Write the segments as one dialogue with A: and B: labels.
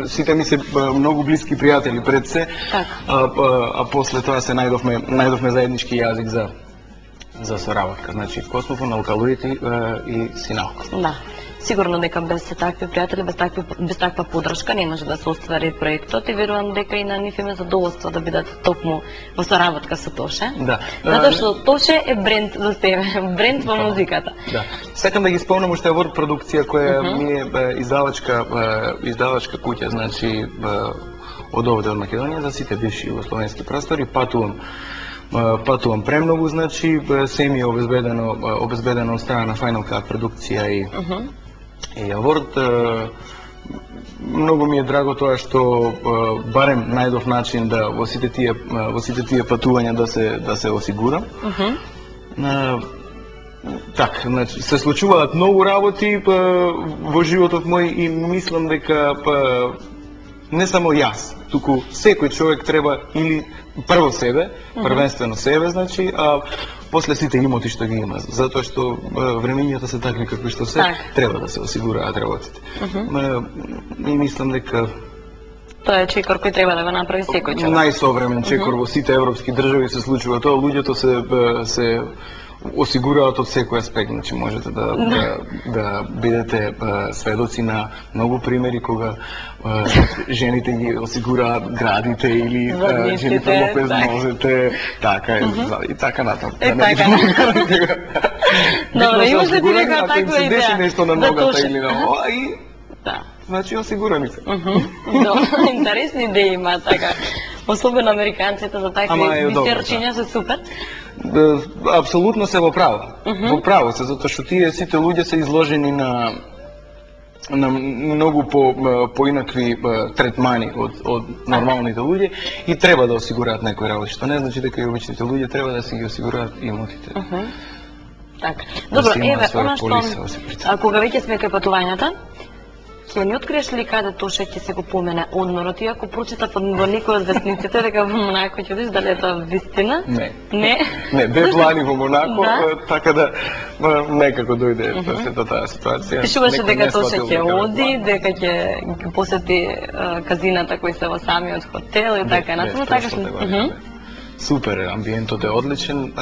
A: Сите ми се многу блиски пријатели пред се, а после тоа се најдовме заеднички јазик за соработка. Значи Космофон, Алкалоид и Синалко.
B: Да. Сигурно дека без такви пријатели, без таква поддршка не може да се оствари проектот и верувам дека и на нив име задоволство да бидат токму во соработка со Тоше.
A: Да.
B: Затоа што Тоше е бренд за себе, бренд во музиката.
A: Да. Сакам да ги спомнам уште Аворд продукција која ми е издавачка куќа, значи од овде од Македонија за сите бивши југословенски простори, патувам премногу, значи се ми е обезбедено од страна на Final Cut продукција и Аворд. Многу ми е драго тоа што барем најдов начин да во сите тие патувања да се осигурам. Так, значи се случуваат многу работи во животот мој и мислам дека не само јас, туку секој човек треба или прво себе, првенствено себе, значи, а после сите имоти што ги има, затоа што времењата се такви какви што се, треба да се осигураат работите. И мислам дека
B: тоа е чекор кој треба да го направи секој човек.
A: Најсовремен чекор во сите европски држави се случува тоа, луѓето се осигураат од секој аспект, значи можете да бидете сведоци на многу примери кога жените ги осигураат градите или жените лопез нозете, така е, и така натаму.
B: Добре, имаш да ти нека таква идеја?
A: Се деси нешто на ногата или на ова и значи осигурани се.
B: Добре, интересни идеи има така. Особено американците за такви бисерчиња се супер.
A: Апсолутно се во право. Во право се, затоа што тие сите луѓе се изложени на многу поинакви третмани од нормалните луѓе и треба да осигураат некои работи, што не значи дека и обичните луѓе треба да си ги осигураат имотите.
B: Така. Добро, еве, она што кога веќе сме кај патувањата, ќе ни откриеш ли каде Тоше ќе се го помене одморот, иако прочитав во некој од вестниците дека во Монако ќе одиш, дали е тоа вистина?
A: Не.
B: Не?
A: Не, бе плани во Монако, така да некако дојде сета таа ситуација.
B: Пишуваше дека Тоше ќе оди, дека ќе посети казината кои се во самиот хотел и така натаму, така што
A: супер, амбиентот е одличен,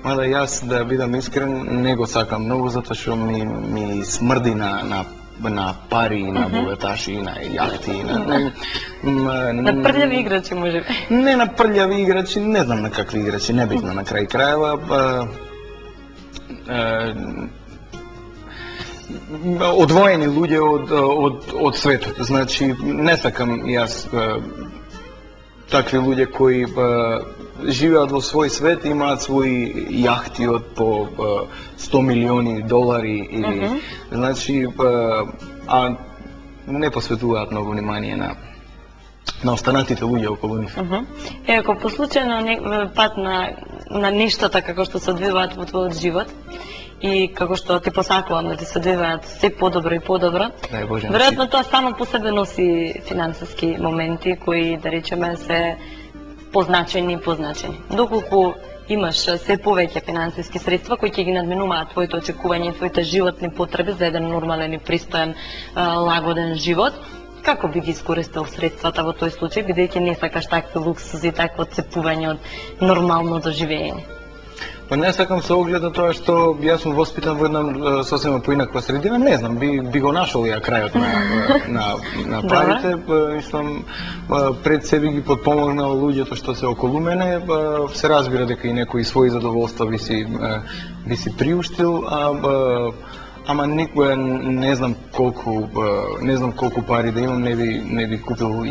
A: мада јас да бидам искрен не го сакам многу затоа што ми смрди на пари, на богаташи, на јахти,
B: на прљави играчи, може би.
A: Не на прљави играчи, не знам на какви играчи, небитно на крај крајава. Одвоени луѓе од светот, значи не сакам јас такви луѓе кои живеат во свој свет, имаат своји јахти од по 100 милиони долари или значи а не посветуваат многу внимание на останатите луѓе околу нив.
B: Ако по случајно пат на нештата како што се одвиваат во твојот живот и како што ти посакувам да ти се одвиваат се подобро и подобро, веројатно тоа само по себе носи финансиски моменти кои, да речеме, се позначени. Доколку имаш се повеќе финансиски средства кои ќе ги надминуваат твоите очекувања и твоите животни потреби за еден нормален и пристоен, лагоден живот, како би ги искористил средствата во тој случај, бидејќи не сакаш такви луксузи, такво цепување од нормалното живење?
A: Па не сакам се оглед на тоа што јас сум воспитан во една сосема поинаква средина, не знам, би го нашол ја крајот на парите, мислам, пред себе ги подпомогнал луѓето што се околу мене, се разбира дека и некои своји задоволства би си приуштил, ама никоја не знам колку пари да имам, не би купил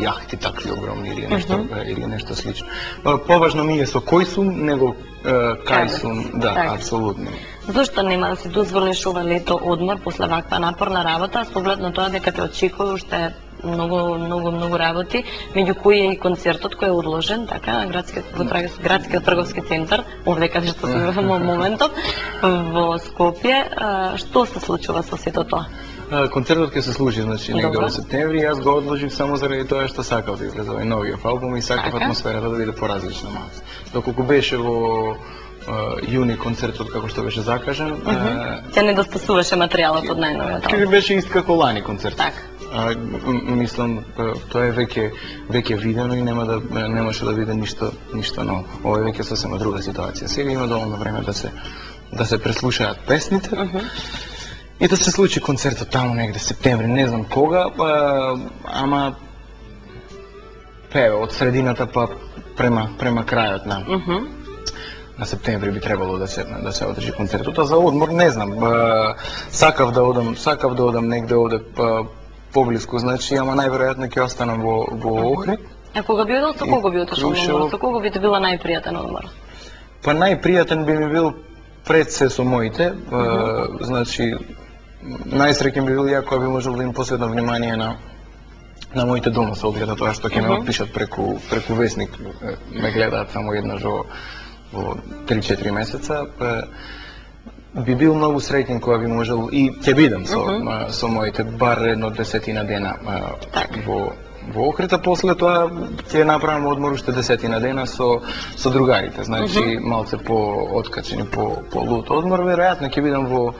A: јахти такви огромни или нешто слично. Поважно ми е со кој сум, него кај сум, да, апсолутно.
B: Зошто нема да си дозволиш ова лето одмор после ваква напорна работа, со оглед на тоа дека те очекува уште многу работи, меѓу кои е и концертот кој е одложен, така, градскиот трговски центар, овде каде што сме во моментот, во Скопје. Што се случува со сето тоа?
A: Концертот ќе се случи, значи, негде во септември, јас го одложив само заради тоа што сакав да излезе овој новиот албум и сакав атмосферата да биде поразлична малку. Доколку беше во јуни концертот како што беше закажан,
B: ќе недостасуваше материјалот од најновиот албум.
A: Ќе беше ист како лани концерт.
B: Така.
A: Мислам, тоа е веќе видено и немаше да биде ништо ново. Ова е веќе сосема друга ситуација. Сега има доволно време да се преслушаат песните и да се случи концертот таму негде септември, не знам кога, ама од средината па према крајот на септември би требало да се одржи концертот. А за одмор не знам. Сакав да одам негде овде поблиску, значи, ама најверојатно ќе останам во Охрид.
B: А кога би одел, со кого би отишол на одмор? Со кого би те била најпријатен одмор?
A: Па најпријатен би ми бил пред се со моите, значи најсреќен би бил ја кога би можел да им посветам внимание на моите дома, со оглед на тоа што ќе ме отпишат преку весник, ме гледаат само еднаш во 3-4 месеца. Би бил многу среќен кога би можел и ќе бидам со моите бар едно 10 дена во Охрид, а после тоа ќе направам одмор уште 10 дена со другарите, значи малце по-откачени, по-лут одмор. Веројатно ќе бидам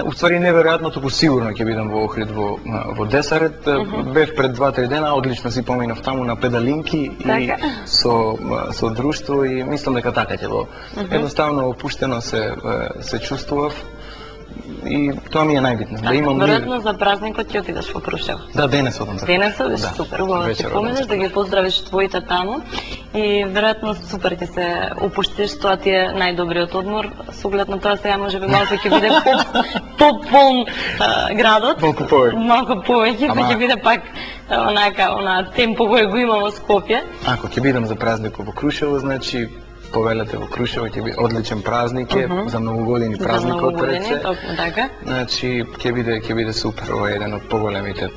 A: уствари неверојатно, туку сигурно ќе бидам во Охрид во Десарет. Бев пред 2-3 дена, одлично си поминав таму на педалинки и со друштво и мислам дека така ќе било. Едноставно опуштено се чувствував и тоа ми е најбитно. Да имам
B: веројатно за празникот ќе отидеш во Крушево.
A: Да, денес одам.
B: Денес одиш, супер, убаво да ќе поминеш, да ги поздравиш твоите таму и веројатно супер ќе се опуштиш, тоа ти е најдобриот одмор, со оглед на тоа сега можеби малку ќе биде пополн градот. Малку повеќе, па ќе биде пак она темпо кој го има во Скопје.
A: Ако ќе бидам за празникот во Крушево, значи повелете во Крушево ќе биде одличен празник, за многу години празникот пред се. Значи ќе биде супер, ова е еден од поголемите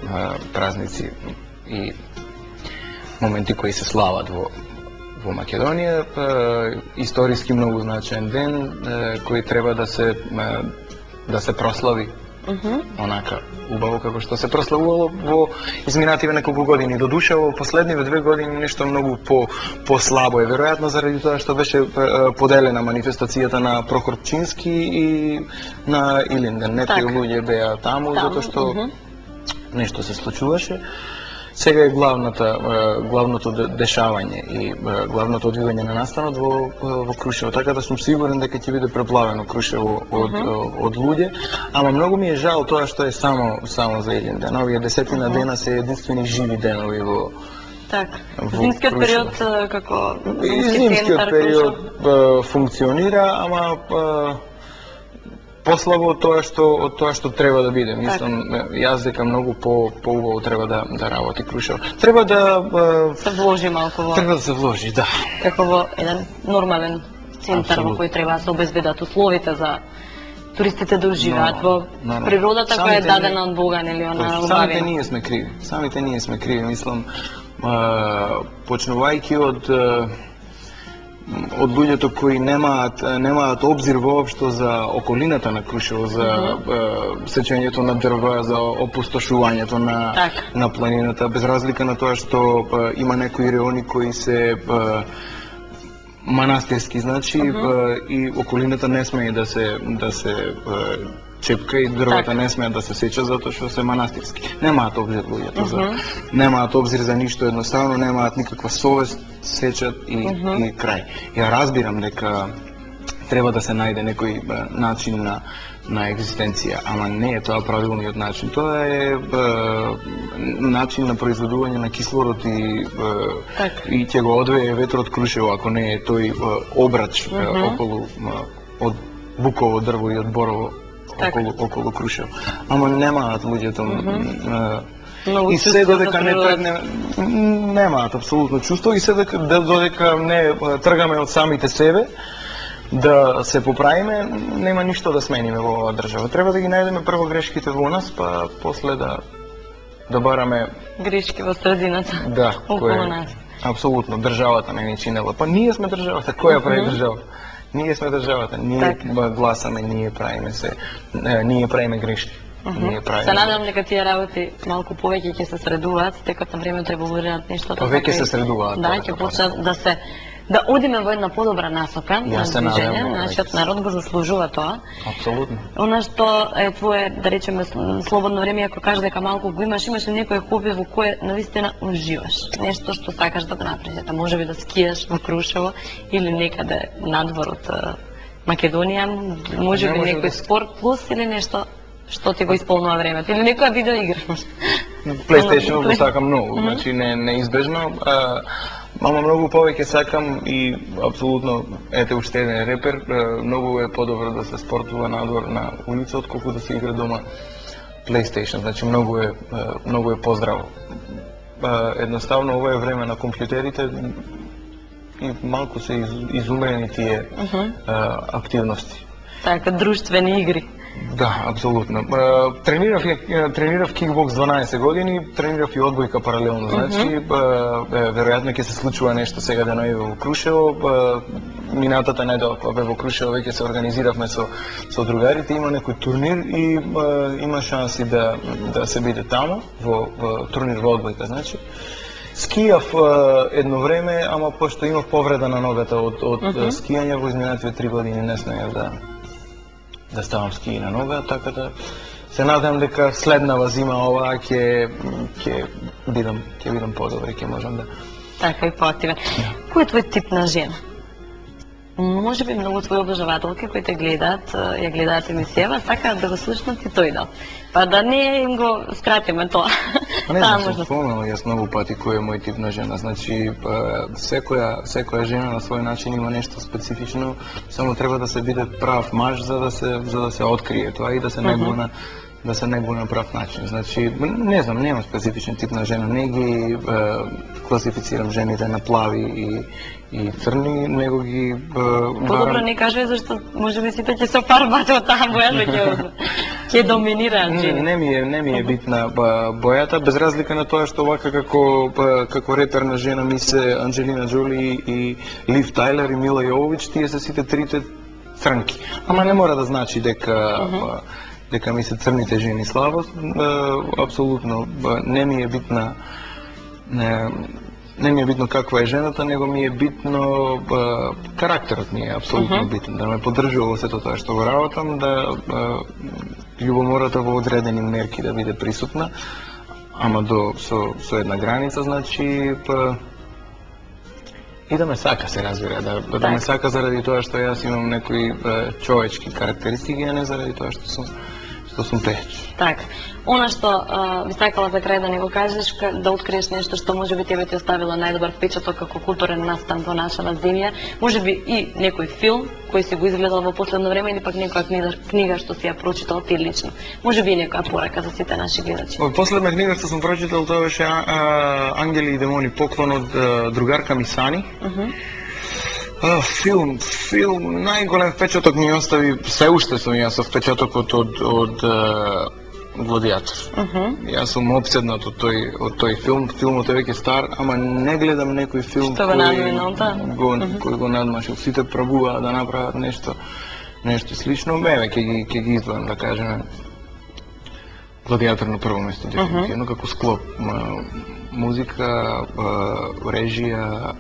A: празници и моменти кои се слават во Македонија. Историски многу значаен ден кој треба да се прослави онака убаво како што се прославувало во изминативе неколку години. До душа во последниве 2 години нешто многу по-слабо е, веројатно заради тоа што беше поделена манифестацијата на Прохор Пчински и на Илинден. Некои луѓе беа таму затоа што нешто се случуваше. Сега е главното дешавање и главното одвивање на настанот во Крушево, така да сум сигурен дека ќе биде преплавено Крушево од луѓе, ама многу ми е жал тоа што е само за еден ден. Овие 10 дена се единствени живи денови во
B: зимскиот период како
A: зимскиот период функционира, ама послабо од тоа што треба да биде. Мислам, јас дека многу поубаво треба да работи Крушево. Треба да
B: се вложи малку во.
A: Треба да се вложи, да.
B: Како во еден нормален центар во кој треба да се обезбедат условите за туристите да уживаат во природата која е дадена од Бога, нели, она убавена.
A: Самите ние сме криви, мислам, почнувајќи од луѓето кои немаат обзир воопшто за околината на Крушево, за сечењето на дрва, за опустошувањето на планината, без разлика на тоа што има некои реони кои се манастирски, значи, и околината не смее да се чепка и дрвата не смеат да се сечат затоа што се манастирски. Немаат обзир луѓето, немаат обзир за ништо, едноставно немаат никаква совест, сечат и крај. Ја разбирам дека треба да се најде некој начин на екзистенција, ама не е тоа правилниот начин. Тоа е начин на произведување на кислород и ќе го одвее ветрот Крушево, ако не е тој обрач околу од буково дрво и од борово околу Крушево. Ама немаат луѓето и се додека немаат апсолутно чувство и се додека не тргаме од самите себе да се поправиме, нема ништо да смениме во оваа држава. Треба да ги најдеме прво грешките во нас, па после да бараме
B: грешки во средината.
A: Да,
B: околу нас.
A: Апсолутно, државата не ни чинела. Па ние сме државата, која прави држава? Ние сме државата, ние гласаме, ние правиме грешки.
B: Се надам дека тие работи малку повеќе ќе се средуваат, текот на време треба да уредат нешто.
A: Повеќе се средуваат.
B: Да, ќе почнат да се да одиме во една подобра насока на движење, нашиот народ го заслужува тоа.
A: Апсолутно.
B: Она што е твое, да речеме, слободно време, ако кажеш дека малку го имаш ли некој хоби во кое навистина уживаш? Нешто што сакаш да го направиш, можеби да скијаш во Крушево или некаде надвор од Македонија, можеби некој спорт плюс или нешто што ти го исполнува времето, или некоја видеоигра.
A: PlayStation го сакам многу, значи неизбежно. Ама многу повеќе сакам и апсолутно, ете уште еден репер, многу е подобро да се спортува надвор на улица, отколку да се игра дома PlayStation, значи многу е поздраво. Едноставно, ова е време на компјутерите и малку се изумрени тие активности.
B: Така, друштвени игри.
A: Да, апсолутно. Тренирав кикбокс 12 години, тренирав и одбојка паралелно, значи веројатно ќе се случува нешто сега да најде во Крушево. Минатата недела кога бе во Крушево веќе се организиравме со другарите, има некој турнир и има шанси да се биде таму во турнир во одбојка, значи. Скијав едно време, ама пошто имав повреда на ногата од скијање во изминативе 3 години не смеев да ставам ски на нога, така да се надам дека следнава зима ова ќе бидам подобри, ќе можам да...
B: Така и поактивен. Кој е твој тип на жена? Може би многу твои обожавателки кои те гледаат, ја гледаат емисијава, сакаат да го слушнат и тој дел. Па да не им го скратиме тоа.
A: Не знам, се спомнал јас многу пати кој е мој тип на жена. Значи, секоја жена на свој начин има нешто специфично, само треба да се биде прав маж за да се открие тоа и да се негува на прав начин. Значи, не знам, нема специфичен тип на жена, не ги класифицирам жените на плави и црни, него ги...
B: Подобро не кажа, зашто може би сите ќе се офарбате од таа боја, ќе доминираат жени.
A: Не ми е битна бојата, без разлика на тоа што вака како реперна жена ми се Анджелина Джоли и Лив Тайлер и Мила Јововиќ, тие се сите трите црнки. Ама не мора да значи дека ми се црните жени слабост, апсолутно не ми е битна каква е жената, него ми е битно карактерот ми е апсолутно битен, да ме поддржува во сето тоа што го работам, да љубомората во одредени мерки да биде присутна, ама со една граница, значи и да ме сака, се разбира, да ме сака заради тоа што јас имам некои човечки карактеристики, а не заради тоа што сум пејач.
B: Така. Она што би сакала за крај да не го кажеш, да откриеш нешто што може би тебе ти оставило најдобар впечаток како културен настан во нашава земја, може би и некој филм кој си го изгледал во последно време или пак некоја книга што си ја прочитал ти лично. Може би и некоја порака за сите наши гледачи.
A: Последна книга што сум прочитал тоа беше Ангели и демони, поклон од другарка ми Сани. Филм, најголем впечаток ми остави, се уште сум јас со впечатокот од Гладиатор. Јас сум опседнат од тој филм, филмот е веќе стар, ама не гледам некој филм кој го надмашил. Сите пробуваат да направат нешто слично, ќе ги издвојам, да кажеме. Гладиатор на прво место, дефинитивно, како склоп, музика, режија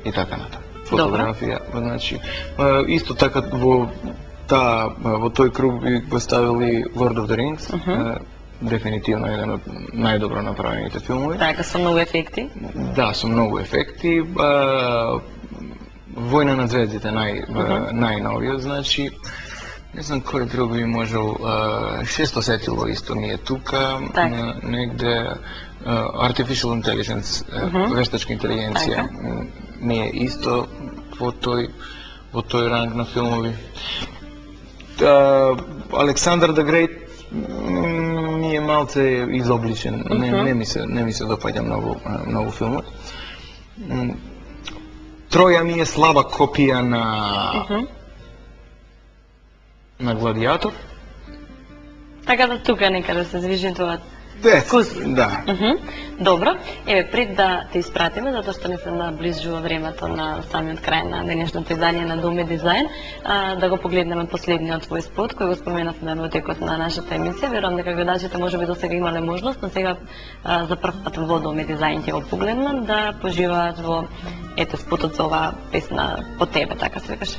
A: и така натаму. Фотографија, значи, исто така во тој круг би го ставили Lord of the Rings, дефинитивно еден од најдобро направените филмови.
B: Така, со многу ефекти?
A: Да, со многу ефекти. Војна на звездите, најновиот, значи, не знам кој друг би можел, Шесто сетило исто ми е тука, негде Artificial Intelligence, вештачка интелигенција, ми е исто во тој ранг на филмови. Александър the Great ми е малце изобличен, не ми се допаѓа многу филмот. Троја ми е слаба копија на Гладиатор.
B: Така да тука некаде се движи тоа. вкус.
A: Да.
B: Добро, еве пред да те испратиме, затоа што не се наближува времето на самиот крај на денешното издание на Дом и дизајн, да го погледнеме последниот твој спот кој го споменавме во текот на нашата емисија. Верувам дека гледачите можеби досега имале можност, но сега за прв пат во Дом и дизајн ќе го погледнат, да поживаат во ете спотот за оваа песна по тебе, така се викаше.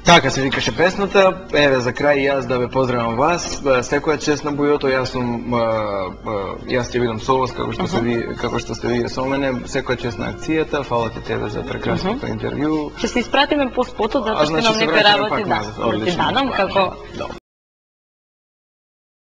A: Така се викаше песната. Еве за крај јас да ве поздравам вас. Секоја чест на бујото, јас ќе бидам со вас како што сте вие со мене. Секоја чест на акцијата. Фала ти тебе за прекрасното интервју.
B: Ќе се испратиме по спотот затоа што имам некои работи да ти дадам како